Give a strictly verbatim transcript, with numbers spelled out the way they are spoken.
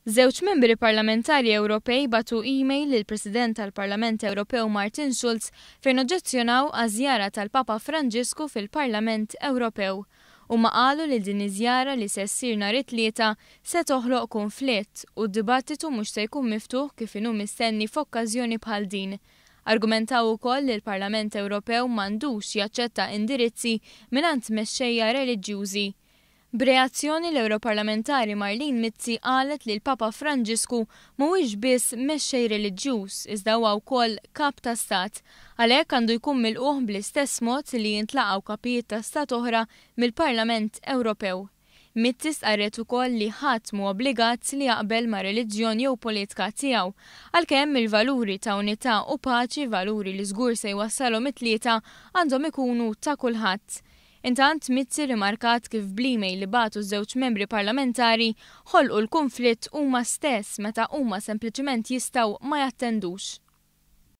Żewġ membri parlamentari Ewropej bagħtu email lill-President tal-Parlament Ewropew Martin Schulz fejn oġġezzjonaw għaż-żjara tal-Papa Franġisku fil-Parlament Ewropew. Huma qalu li din iż-żjara li se ssir nhar it-Tlieta se toħloq konflitt u d-dibattitu mhux se jkun miftuħ kif inhu mistenni f'okkażjoni bħal din. Argumentaw ukoll li l-Parlament Ewropew m'għandux jaċċetta indirizzi mingħand mexxejja reliġjużi. B'reazzjoni, l-Europarlamentari Marlene Mizzi qalet li l-Papa Franġisku mhuwiex biss mexxej reliġjuż, iżda huwa wkoll kap ta' stat. Għalhekk għandu jkun milqugħ bl-istess mod li jintlaqgħu kapijiet ta' stat oħra mill-Parlament Ewropew. Mizzi stqarret ukoll li ħadd mhu obbligat li jaqbel ma' reliġjon jew politika tiegħu, għalkemm il-valuri ta' unità u paċi, valuri li żgur se jwassalhom it-Tlieta, għandhom ikunu ta' kulħadd. Intant, Mizzi rimarkat kif bl-email li bagħtu żewġ membri parlamentari ħolqu l-konflitt huma stess meta huma sempliċement jistgħu ma jattendux.